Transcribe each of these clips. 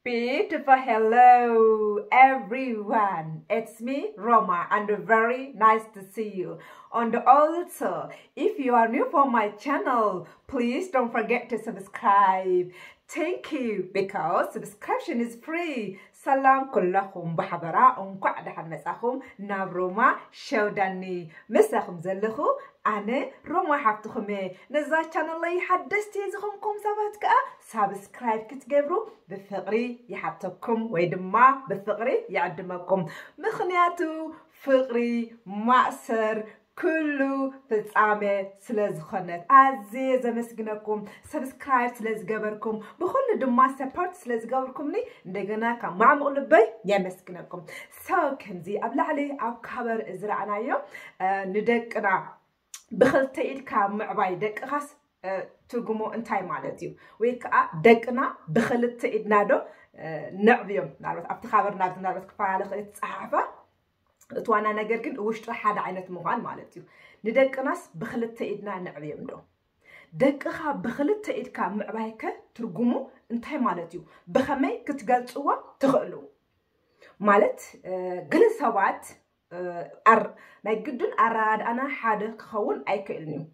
Beautiful hello everyone, it's me Roma and very nice to see you. And also, if you are new for my channel, please don't forget to subscribe. Thank you, because subscription is free. ሰላም ኩለኹም ብሓበራ፣ እንኳዕ ደሓን መጻኹም ናብ ሮማ ሸውዳኒ። ምሳኹም ዘለኹ ኣነ ሮማ ሓፍትኹም እየ። ነዛ ቻነለይ ሓደስቲ ዝኾንኩም ሰባት ከኣ ሳብስክራይብ ክትገብሩ ብፍቕሪ ይሓተኩም ወይ ድማ ብፍቕሪ ይዕድመኩም። ምኽንያቱ ፍቕሪ ማእሰር ኩሉ ፍጻሜ ስለ ዝኾነት ኣዝየ ዘመስግነኩም። ሰብስክራይብ ስለ ዝገበርኩም፣ ብኹሉ ድማ ሰፖርት ስለ ዝገበርኩምኒ እንደገና ካብ ማዕሙቕ ልበይ የመስግነኩም። So ከምዚ ኣብ ላዕሊ ኣብ ካቨር ዝረኣናዮ ንደቅና ብኽልተ ኢድካ ምዕባይ ደቅኻስ ትርጉሙ እንታይ ማለት እዩ? ወይ ከዓ ደቅና ብኽልተ ኢድና ዶ ነዕብዮም? ምናልባት ኣብቲ ካቨር ናብዚ ምናልባት ክፈላለ ክእል ዝፀሓፈ እቲ ዋና ነገር ግን ውሽጡ ሓደ ዓይነት ምዃን ማለት እዩ። ንደቅናስ ብኽልተ ኢድና ነዕብዮም ዶ? ደቅኻ ብኽልተ ኢድካ ምዕባይከ ትርጉሙ እንታይ ማለት እዩ? ብኸመይ ክትገልፅዎ ትኽእሉ? ማለት ገለ ሰባት ናይ ግድን ኣረዳድኣና ሓደ ክኸውን ኣይክእልን እዩ።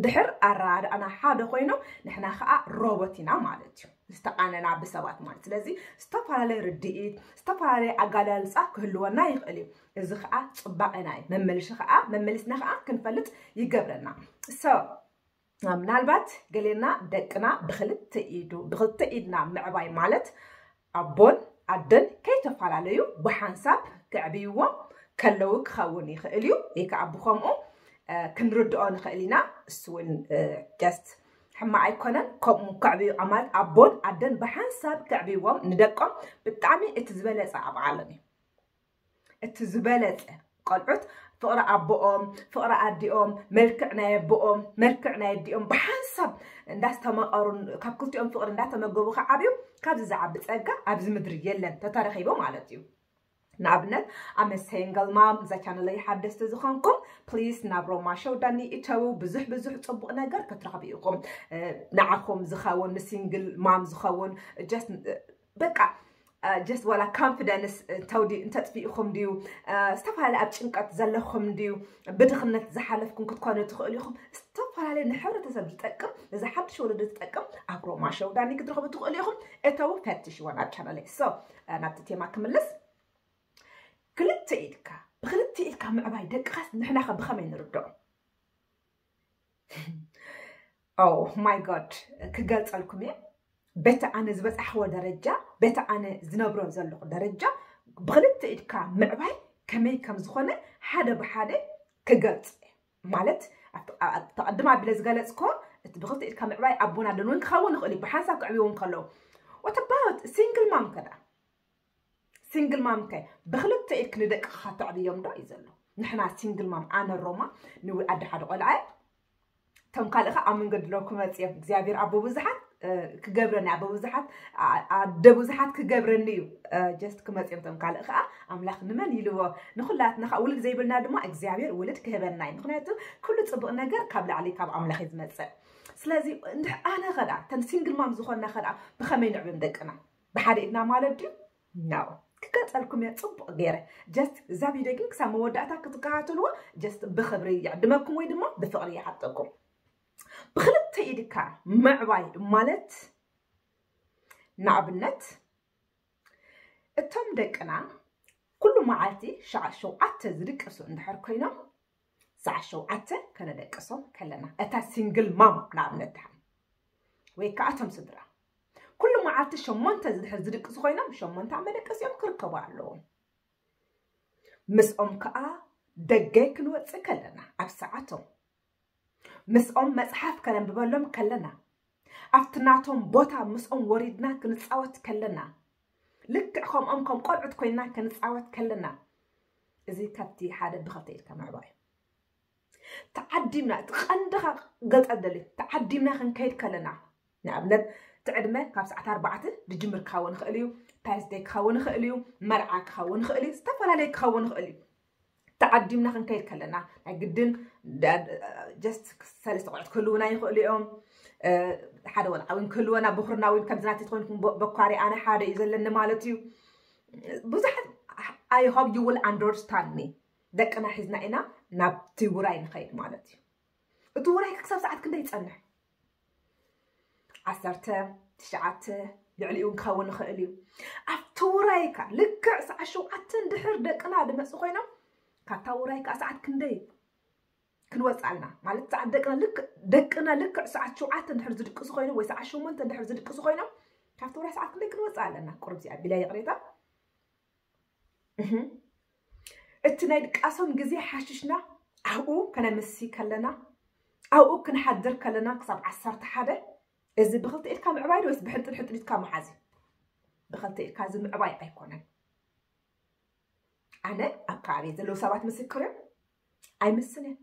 ድሕር ኣረዳድኣና ሓደ ኮይኑ ንሕና ከዓ ሮቦት ኢና ማለት እዩ። ዝተቃነና ብሰባት ማለት። ስለዚ ዝተፈላለየ ርድኢት፣ ዝተፈላለየ ኣጋላልፃ ክህልወና ይኽእል እዩ። እዚ ከዓ ፅባቐና እዩ። መመልሺ ከዓ መመሊስና ከዓ ክንፈልጥ ይገብረና። So ምናልባት ገሌና ደቅና ብክልተ ኢዱ ብክልተ ኢድና ምዕባይ ማለት ኣቦን ኣደን ከይተፈላለዩ ብሓንሳብ ክዕብይዎም ከለዉ ክኸውን ይኽእል እዩ። ወይ ከዓ ብከምኡ ክንርድኦ ንኽእል ኢና። እሱ እውን ጀስት ሕማቕ ኣይኮነን። ከምኡ ክዕብዩ ማለት ኣቦን ኣደን ብሓንሳብ ክዕብይዎም ንደቆም ብጣዕሚ እቲ ዝበለፀ ኣብዓሎም እዩ። እቲ ዝበለፀ ቆልዑት ፍቕሪ ኣቦኦም ፍቕሪ ኣዲኦም መልክዕ ናይ ኣቦኦም መልክዕ ናይ ኣዲኦም ብሓንሳብ እንዳስተመቐሩ ካብ ክልቲኦም ፍቕሪ እንዳተመገቡ ክዓብዩ ካብዚ ዝዓቢ ፀጋ ኣብዚ ምድሪ የለን ተተረኺቡ ማለት እዩ። ንኣብነት ኣመ ሲንግል ማም እዛ ቻነለይ ሓደስቲ ዝኾንኩም ፕሊስ ናብ ሮማ ሸው ዳኒ እተዉ። ብዙሕ ብዙሕ ፅቡቕ ነገር ክትረኽቡ ኢኹም። ንዓኹም ዝኸውን ንሲንግል ማም ዝኸውን ጀስት በቃ ጀስት ዋላ ኮንፊደንስ እንተጥፊእኹም ድዩ? ዝተፈላለዩ ኣብ ጭንቀት ዘለኹም ድዩ? ብድኽነት ዝሓለፍኩም ክትኮኑ ትኽእሉ ኢኹም። ዝተፈላለዩ ንሕብረተሰብ ዝጠቅም እዚ ሓድሽ ወለዶ ዝጠቅም ኣብ ሮማ ሸው ዳኒ ክትረኽቡ ትኽእሉ ኢኹም። እተው ፈትሽዎ ናብ ቻነለይ። So ናብቲ ቴማ ክምልስ፣ ክልተ ኢድካ ብክልተ ኢድካ ምዕባይ ደቅኻስ ንሕናኸ ብኸመይ ንርድኦ? Oh my God ክገልፀልኩም እየ። በቲ ኣነ ዝበፃሕዎ ደረጃ በቲ ኣነ ዝነብሮ ዘለኹ ደረጃ ብክልተ ኢድካ ምዕባይ ከመይ ከም ዝኾነ ሓደ ብሓደ ክገልፅ እየ። ማለት ተቐድም ኣቢለ ዝገለፅኮ እቲ ብክልተ ኢድካ ምዕባይ ኣቦና ደን እውን ክኸውን ይኽእል እዩ ብሓንሳብ ክዕብይዎ ከለዉ። What about ሲንግል ማም ከዳ? ሲንግል ማም ከ ብክልተ ኢድክ ንደቅኻ ተዕብዮም ዶ እዩ ዘሎ? ንሕና ሲንግል ማም ኣነ ሮማ ንዊ ኣደ ሓደ ቆልዓ እቶም ካልእ ከ ኣብ መንገዲ ለው ክመፅ እዮም። እግዚኣብሔር ኣቦ ብዙሓት ክገብረና ኣቦ ብዙሓት ኣደ ብዙሓት ክገብረኒ እዩ። ጀስት ክመፅ እዮም እቶም ካልእ ከዓ ኣምላኽ ንመን ኢልዎ ንኩላትና ከዓ ውልድ ዘይብልና ድማ እግዚኣብሔር ውልድ ክህበና እዩ። ምክንያቱ ኩሉ ፅቡቅ ነገር ካብ ላዕሊ ካብ ኣምላኽ እዩ ዝመፅእ። ስለዚ ኣነ ከዳ ተን ሲንግል ማም ዝኾንና ከዳ ብኸመይ ንዕብም ደቅና ብሓደ ኢድና ማለት ድዩ? No ክገልፀልኩም እየ ፅቡቕ ገይረ። ጀስት እዛ ቪድዮ ግን ክሳብ መወዳእታ ክትከታተልዎ ጀስት ብክብሪ ይዕድመኩም ወይ ድማ ብፍቕሪ ይሓተኩም። ብክልተ ኢድካ ምዕባይ ማለት ንኣብነት እቶም ደቅና ኩሉ መዓልቲ ሸዓ ሸውዓተ ዝድቅሱ እንድሕር ኮይኖም ሰዓት ሸውዓተ ከነደቅሶም ከለና እታ ሲንግል ማም ንኣብነት ድሓን ወይ ከዓ እቶም ስድራ ኩሉ መዓልቲ ሸሞንተ ዝድሕር ዝድቅሱ ኮይኖም ሸሞንተ መደቀሲኦም ክርከቡ ኣለዎም። ምስኦም ከዓ ደገ ክንወፅእ ከለና ኣብ ሰዓቶም ምስኦም መፅሓፍ ከነንብበሎም ከለና ኣብቲ ናቶም ቦታ ምስኦም ወሪድና ክንፃወት ከለና ልክዕ ከምኦም ከም ቆልዑት ኮይና ክንፃወት ከለና እዚ ካብቲ ሓደ ብኸልተ ኢድካ ምዕባይ ተዓዲምና እቲ ቀንድኻ ገልፀ ደሊ ተዓዲምና ክንከይድ ከለና ንኣብነት እቲ ዕድመ ካብ ሰዓት ኣርባዕተ ዝጅምር ክኸውን ይኽእል እዩ። ፓስደይ ክኸውን ይኽእል እዩ። መርዓ ክኸውን ይኽእል እዩ። ዝተፈላለየ ክኸውን ይኽእል እዩ። ተዓዲምና ክንከይድ ከለና ናይ ግድን just ሰለስተ ቆልዑት ክህልውና ይኽእሉ እዮም። ሓደ ወልዓ እውን ክህልወና፣ ብኩርና እውን ከምዚ ናተይ ትኾይንኩም በኳሪ ኣነ ሓደ እዩ ዘለኒ ማለት እዩ። ብዙሓት I hope you will understand me። ደቅና ሒዝና ኢና ናብቲ ውራይ ንኸይድ ማለት እዩ። እቲ ውራይ ክሳብ ሰዓት ክንደይ ይፀንሕ? ዓሰርተ ትሽዓተ ልዕሊኡ እውን ክኸውን ይኽእል እዩ። ኣብቲ ውራይካ ልክዕ ሰዓት ሸውዓተ እንድሕር ደቅና ድመፁ ኮይኖም ካብታ ውራይ ከዓ ሰዓት ክንደይ ክንወፅእ ኣለና ማለት ሰዓት ደቅና ልክ ደቅና ልክዕ ሰዓት ሸውዓተ እንድሕር ዝድቅሱ ኮይኖም ወይ ሰዓት ሸሞንተ እንድሕር ዝድቅሱ ኮይኖም ካብቲ ውራይ ሰዓት ክንደይ ክንወፅእ ኣለና? ቁርብ እዚኣ ቢላ ይቕሬታ እቲ ናይ ድቃሶም ግዜ ሓሽሽና ኣብኡ ከነምሲ ከለና ኣብኡ ክንሓድር ከለና ክሳብ ዓሰርተ ሓደ እዚ ብክልተ ኢድካ ምዕባይ ዶ ወይስ ብሕንጥል ሕንጥል ኢድካ መሓዚ? ብክልተ ኢድካ እዚ ምዕባይ ኣይኮነን። ኣነ ኣብ ከባቢ ዘለዉ ሰባት ምስክር እዮም። ኣይምስን እየ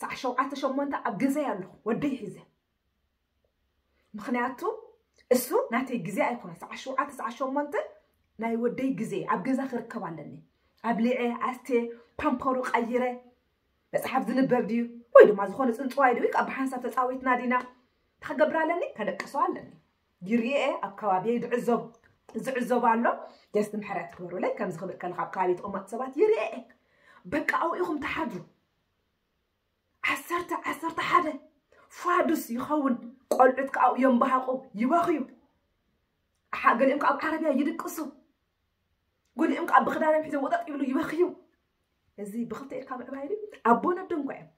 ሰዓ ሸውዓተ ሸሞንተ ኣብ ገዛይ ኣለኹ ወደይ ሒዘ ምክንያቱ እሱ ናተይ ግዜ ኣይኮነ ሰዓ ሸውዓተ ሰዓ ሸሞንተ ናይ ወደይ ግዜ ኣብ ገዛ ክርከብ ኣለኒ። ኣብሊዐ ኣስቴ ፓምፖሩ ቀይረ መፅሓፍ ዝንበብ ድዩ ወይ ድማ ዝኾነ ፅንፅዋይ ድዩ ካብ ብሓንሳብ ተፃዊትና ዲና ክገብር ኣለኒ ከደቅሶ ኣለኒ። ይርኤ ኣብ ከባቢ ዝዕዘብ ዝዕዘብ ኣሎ። ጀስት ምሕረት ክበሩለይ ከምዚ ክብል ከለካ ኣብ ከባቢ ተቐመጡ ሰባት ይርኤ በቃ ኣብኡ ኢኹም ተሓድሩ። ዓሰርተ ዓሰርተ ሓደ ፋዱስ ይኸውን። ቆልዑት ከዓኡ የንባሃቑ ይበኽዩ። ገሊኦም ከዓ ኣብ ዓረብያ ይድቅሱ። ገሊኦም ከዓ ብክዳኖም ሒዞም ወጠጥ ይብሉ ይበኽዩ። እዚ ብክልተ ኢድካ ምዕባይ ድዩ? ኣቦን ኣደን እኳ እዮም።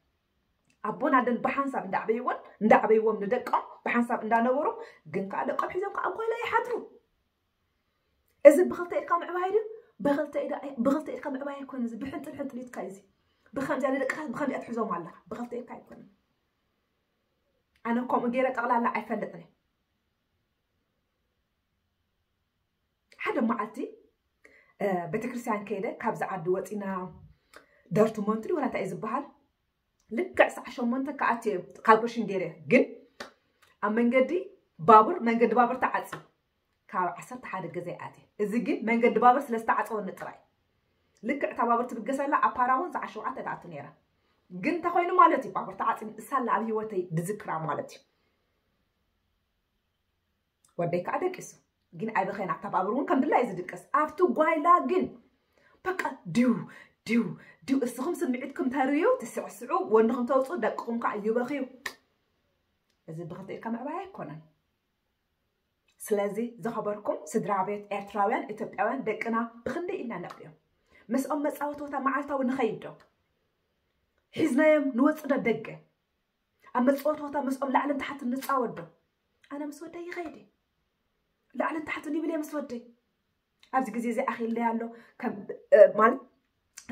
ኣቦን ኣደን ብሓንሳብ እንዳዕበይዎን እንዳዕበይዎም ንደቆም ብሓንሳብ እንዳነበሩ ግን ከዓ ደቆም ሒዞም ከዓ ጓይላ ይሓድሩ። እዚ ብክልተ ኢድካ ምዕባይ ድዩ? ብክልተ ኢድካ ምዕባይ ኣይኮን እዚ ብሕንጥል ሕንጥል ኢድካ እዚ ብከምዚያ ንደቅካ ብከምዚያ ትሕዞም ኣለካ ብክልተ ኢድካ ኣይኮነ። ኣነ ከምኡ ገይረ ጠቕላላ ኣይፈልጥን። ሓደ መዓልቲ ቤተክርስትያን ከይደ ካብዚ ዓዲ ወፂና ደርትሞንት ድዩ ወላ እንታይ እዩ ዝበሃል ልክዕ ሰዓ ሸሞንተ ክኣት እየ ካልኩሌሽን ገይረ ግን ኣብ መንገዲ ባቡር መንገዲ ባቡር ተዓፂ ካብ ዓሰርተ ሓደ ገዛ ይኣት እዚ ግን መንገዲ ባቡር ስለ ዝተዓፀወኒ ጥራይ ልክዕ እታ ባቡር ትብገሰላ ኣብ ፓራ እውን ሰዓ ሸውዓተ ትኣቱ ነይራ ግን እንተኮይኑ ማለት እዩ ባቡር ተዓፂ እሳላ ኣብ ህይወተይ ድዝክራ ማለት እዩ ወደይ ከዓ ደቂሱ ግን ኣይበኸይን ኣብታ ባቡር እውን ከም ድላይ ዝድቅስ ኣብቲ ጓይላ ግን በቃ ድው ድው ድው እስኹም ስምዒትኩም ተርእዩ ትስዕስዑ ወንድኹም ተውፅኡ ደቅኹም ከዓ ይበኽዩ እዚ ብክልተ ኢድካ ምዕባይ ኣይኮነን ስለዚ ዝኸበርኩም ስድራ ቤት ኤርትራውያን ኢትዮጵያውያን ደቅና ብክንደይ ኢና ነቕዮም ምስኦም መፃወቲ ቦታ መዓልታዊ ንኸይድ ዶ ሒዝናዮም ንወፅእ ዶ ደገ ኣብ መፃወቲ ቦታ ምስኦም ላዕልን ታሕትን ንፃወት ዶ ኣነ ምስ ወደይ ይኸይድ ላዕልን ታሕትን ይብል እየ ምስ ወደይ ኣብዚ ግዜ እዚ ኣኺለይ ኣሎ ማለት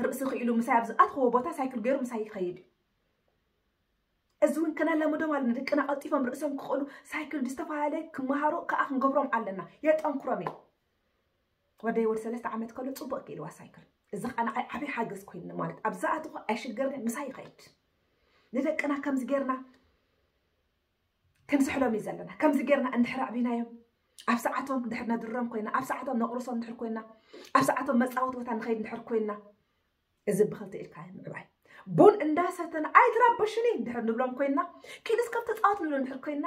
ርእሲ ክኢሉ ምሳይ ኣብ ዝኣትኽዎ ቦታ ሳይክል ገይሩ ምሳይ ይኸይድ እዩ እዚ እውን ከነላምዶም ኣለና ደቅና ቀልጢፎም ርእሶም ክኽእሉ ሳይክል ብዝተፈላለየ ክመሃሩ ከዓ ክንገብሮም ኣለና የጠንክሮም እዩ ወደይ ወዲ ሰለስተ ዓመት ከሎ ፅቡቅ ክኢልዋ ሳይክል እዚ ከዓ ንዓይ ዓብይ ሓገዝ ኮይንኒ ማለት ኣብ ዝኣትኹ ኣይሽገርኒ ምሳይ ይኸይድ ንደቅና ከምዚ ጌርና ክንስሕሎም እዩ ዘለና ከምዚ ጌርና እንድሕር ኣዕቢናዮም ኣብ ሰዓቶም እንድሕር ነድሮም ኮይና ኣብ ሰዓቶም ነቕርሶም እንድሕር ኮይና ኣብ ሰዓቶም መፃወቲ ቦታ ንኸይድ እንድሕር ኮይና እዚ ብክልተ ኢድካ ምዕባይ ቡን እንዳሰተና ኣይትረብሽኒ እንድሕር ንብሎም ኮይና ኪድ እስከ ተፃወት ንብሎ እንድሕር ኮይና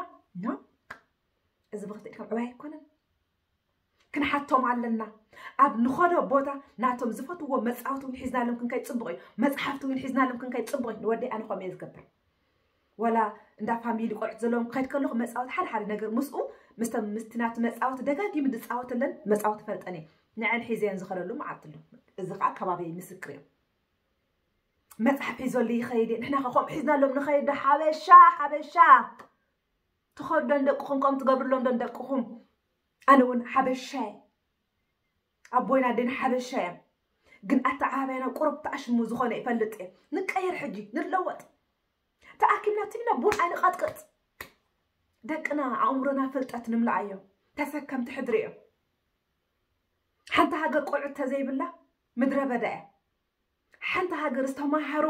እዚ ብክልተ ኢድካ ምዕባይ ኣይኮነን ክንሓቶም ኣለና ኣብ ንኸዶ ቦታ ናቶም ዝፈትዎ መፃወቲ እውን ሒዝናሎም ክንከይድ ፅቡቕ እዩ መፅሓፍቲ እውን ሒዝናሎም ክንከይድ ፅቡቕ እዩ ንወደይ ኣነ ከምኡ እየ ዝገብር ወላ እንዳ ፋሚሊ ቆልዑት ዘለዎም ክኸይድ ከለኹ መፃወቲ ሓደ ሓደ ነገር ምስኡ ምስቶም ምስቲ ናቱ መፃወቲ ደጋጊሙ ዝፃወተለን መፃወቲ ፈልጠን እየ ንዐን ሒዘየን ዝኸደሉ መዓልቲ ኣሎ እዚ ከዓ ከባቢይ ምስክር እዮም መፅሓፍ ሒዞሉ ይኸይድ እየ ንሕና ከ ከምኡ ሒዝናሎም ንኸይድ ሓበሻ ሓበሻ ትኸዱ ደንደቅኹም ከም ትገብርሎም ደንደቅኹም ኣነ እውን ሓበሻ እየ ኣቦይን ኣደይን ሓበሻ እዮም ግን ኣተዓባብያና ቁሩብ ተኣሽሙ ዝኾነ ይፈልጥ እየ ንቀየር ሕጂ ንለወጥ ተኣኪብና ትግና ቡን ኣይንቐጥቅጥ ደቅና ኣእምሮና ፍልጠት ንምልኣዮ ተሰከምቲ ሕድሪ እዮም ሓንቲ ሃገር ቆልዑት ተዘይብላ ምድረ በዳ እያ ሓንቲ ሃገር ዝተማሃሩ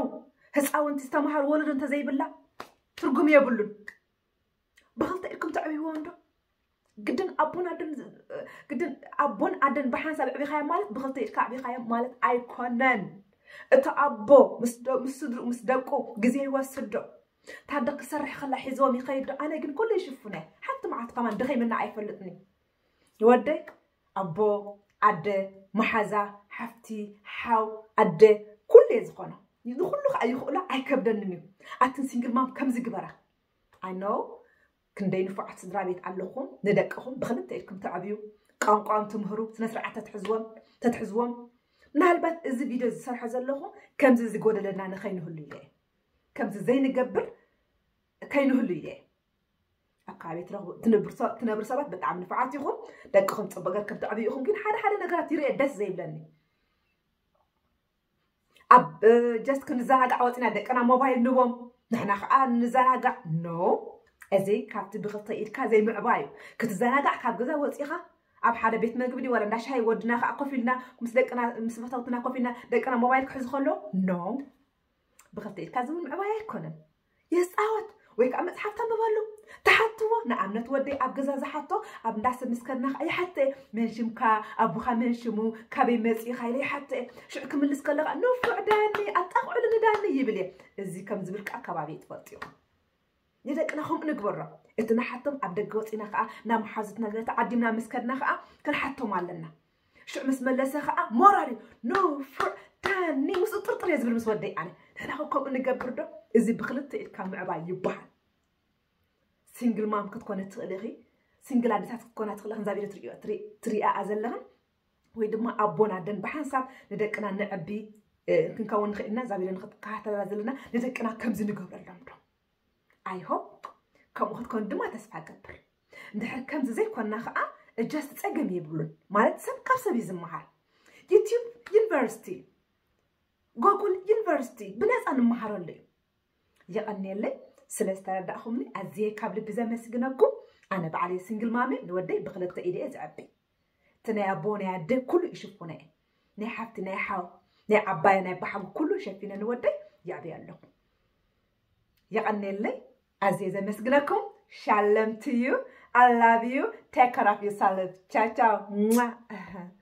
ህፃውንቲ ዝተማሃሩ ወለዶ እንተዘይብላ ትርጉም የብሉን ብክልተ ኢድኩም ተዕብይዎም ዶ ግድን ኣቦን ኣደን ግድን ኣቦን ኣደን ብሓንሳብ ኣዕቢኻዮም ማለት ብክልተ ኢድካ ኣዕቢኻዮም ማለት ኣይኮነን። እቲ ኣቦ ምስ ደ- ምስ ስድርኡ ምስ ደቁ ግዜ ይወስድ ዶ? ታደ ክሰርሕ ከላ ሒዝዎም ይኸይድ ዶ? ኣነ ግን ኩሉ ይሽፍነ። ሓንቲ መዓልቲ ከማን ደኸይምና ኣይፈልጥኒ። ወደይ ኣቦ ኣደ መሓዛ ሓፍቲ ሓው ኣደ ኩሉ እየ ዝኾኖ። ንኩሉ ከዓ ይኽእሎ ኣይከብደንን እዩ። ኣትን ሲንግል ማም ከምዚ ግበራ። ኣይ ኖ ክንደይ ንፉዓት ስድራ ቤት ኣለኹም። ንደቅኹም ብክልተ ኢድኩም ተዕብዩ፣ ቋንቋም ትምህሩ፣ ስነ ስርዓት ተትሕዝዎም ተትሕዝዎም። ምናልባት እዚ ቪድዮ ዝሰርሖ ዘለኹ ከምዚ ዝጎደለና ንኸይንህሉ ኢለ እየ። ከምዚ ዘይንገብር ከይንህሉ ኢለ እየ። ኣብ ከባቢ ትረኽቡ ትነብሩ ሰ- ትነብሩ ሰባት ብጣዕሚ ንፉዓት ኢኹም። ደቅኹም ፅቡቅ ገርኩም ተዕብዩ ኢኹም። ግን ሓደ ሓደ ነገራት ይርኤ ደስ ዘይብለኒ። ኣብ ጀስት ክንዘናጋዕ ወፂና ደቅና ሞባይል ንቦም፣ ንሕና ከዓ ንዘናጋዕ። ኖ፣ እዚ ካብቲ ብክልተ ኢድካ ዘይምዕባይ እዩ። ክትዘናጋዕ ካብ ገዛ ወፂኻ ኣብ ሓደ ቤት መግቢ ድዩ ወላ እንዳ ሻሂ ወድና ከዓ ኮፍ ኢልና ምስ ደቅና ምስ ፈተውትና ኮፍ ኢልና ደቅና ሞባይል ክሕዝ ከሎ፣ ኖ፣ ብክልተ ኢድካ ዝብል ምዕባይ ኣይኮነን። የፃወት ወይ ከዓ መፅሓፍ ተንብበሉ። ተሓትዎ። ንኣብነት ወደይ ኣብ ገዛ ዝሓቶ ኣብ እንዳ ሰብ ምስ ከድና ከዓ ይሓተ። መን ሽምካ? ኣቦኻ መን ሽሙ? ካበይ መፂእኻ? ኢለ ይሓተ። ሽዑ ክምልስ ከለኻ ንፉዕ ዳኒ ኣጣቕዕሉ ንዳኒ ይብል እየ። እዚ ከም ዝብል ከዓ ከባቢ ትፈልጡ ኢኹም። ንደቅና ከምኡ ንግበሮ። እቲ ንሓቶም ኣብ ደገ ወፂና ከዓ ናብ መሓዙትና ገለ ተዓዲምና ምስ ከድና ከዓ ክንሓቶም ኣለና። ሽዑ ምስ መለሰ ከዓ ሞራል እዩ። ንፉዕ ዳኒ ምስኡ ጥርጥር እየ ዝብል ምስ ወደይ ኣነ። ንሕና ከ ከምኡ ንገብር ዶ? እዚ ብክልተ ኢድካ ምዕባይ ይበሃል። ሲንግል ማም ክትኮነ ትኽእል ኢኺ። ሲንግል ኣዴታት ክትኮና ትኽእል ኢኽን። ዛቢረ ትሪኦ ትሪ- ትሪኣ ዘለኽን ወይ ድማ ኣቦን ኣደን ብሓንሳብ ንደቅና ንዕቢ እ፣ ክንከውን ንኽእል ኢና። ዛቢረ ንክትከታተላ ዘለና ንደቅና ከምዚ ንገብረሎም ዶ? ኣይ ሆፕ ከምኡ ክትኮን ድማ ተስፋ ገብር። እንድሕር ከምዚ ዘይኮና ከዓ እጃስ ፀገም የብሉን። ማለት ሰብ ካብ ሰብ እዩ ዝመሃር። ዩቲዩብ ዩኒቨርሲቲ፣ ጎጉል ዩኒቨርሲቲ ብነፃ ንምሃረሉ እዩ። የቐንየለይ ስለ ዝተረዳእኹምኒ ኣዝየ ካብ ልቢ ዘመስግነኩም። ኣነ ባዕለይ ሲንግል ማም እየ፣ ንወደይ ብክልተ ኢደ እየ ዘዕቢ። እቲ ናይ ኣቦ ናይ ኣደ ኩሉ ይሽፍኖ እየ። ናይ ሓፍቲ ናይ ሓው ናይ ዓባየ ናይ ባሓጉ ኩሉ ሸፊነ ንወደይ የዕብዮ ኣለኹ። የቐንየለይ ኣዝየ ዘመስግነኩም። ሻለም to you, I love you, take care of yourself, ቻው ቻው።